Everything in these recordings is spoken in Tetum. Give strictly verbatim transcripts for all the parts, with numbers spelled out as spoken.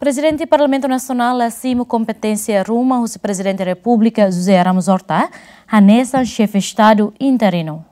Prezidente Parlamentu Nasionál la simu kompeténsia ruma husi Prezidente Repúblika José Ramos Horta hanesan Xefe Estadu interinu.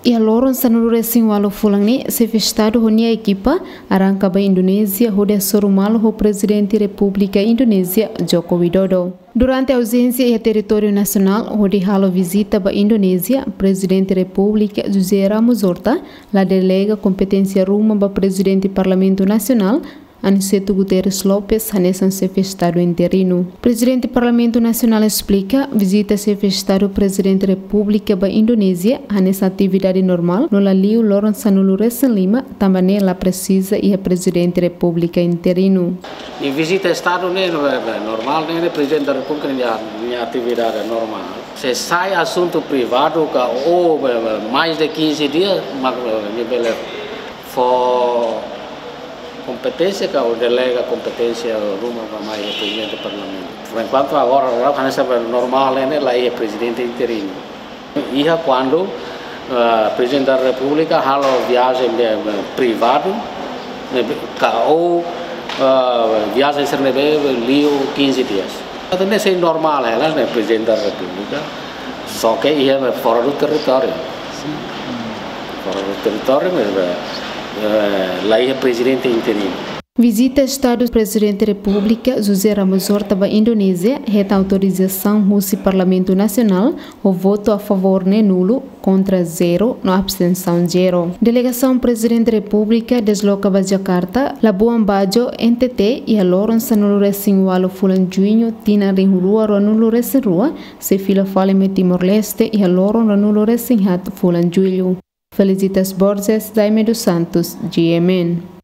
Iha loron sanulu-resin-ualu fulan ne'e, Xefe Estadu ho nia ekipa arranka ba Indonézia hodi hasoru malu ho Prezidente Repúblika Indonézia Joko Widodo. Durante auzénsia iha territóriu nasionál hodi halo vizita ba Indonézia, Prezidente Repúblika José Ramos Horta la delega kompeténsia ruma ba Prezidente Parlamentu Nasionál, Aniceto Guterres Lopes, hanesan Xefe Estadu interinu. Prezidente Parlamentu Nasionál esplika vizita Xefe Estadu Prezidente Repúblika ba Indonézia hanesan atividade normál, no la liu loron sanulu-resin-lima, tanba ne'e la presiza iha Prezidente Repúblika interinu. Nia vizita Estadu ne'e, ne'e, ne'e normál, ne'e, ne'e Prezidente Repúblika nia, nia atividade normál. Se sai asuntu privadu ka, ou, eh, mais de quinze dias, mak, eh, nia bele fó kompeténsia ka, ou delega kompeténsia ruma ba mai Prezidente Parlamentu. Por enkuantu agora, agora, hanesan normál, ne'e, ne'e, la iha Prezidente interinu. Iha kuandu, eh, Prezidente da Repúblika halo viajen be, be privadu, ne'ebé, ka, ou, eh, viajen sira ne'ebé liu quinze dias. Entaun ne'e sei normál, eh, ne'e Prezidente da Repúblika. Só que iha fora do território. Fora do território, mas, eh, eh, la iha Prezidente interinu. Vizita Estadu Prezidente Repúblika José Ramos Horta ba Indonézia hetan autorizasaun husi Parlamentu Nasionál, ho votu a favór ne'e nulu, kontra zero, no abstensaun zero. Delegasaun Prezidente Repúblika desloka ba Jakarta, Labuan Bajo, N T T, iha loron sanulu-resin-ualu fulan Juñu, tinan rihun rua ruanulu-resin-rua, sei fila fali mai Timor-Leste iha loron ruanulu-resin-haat fulan Jullu. Felicitas Borges, Jaime dos Santos, G M N.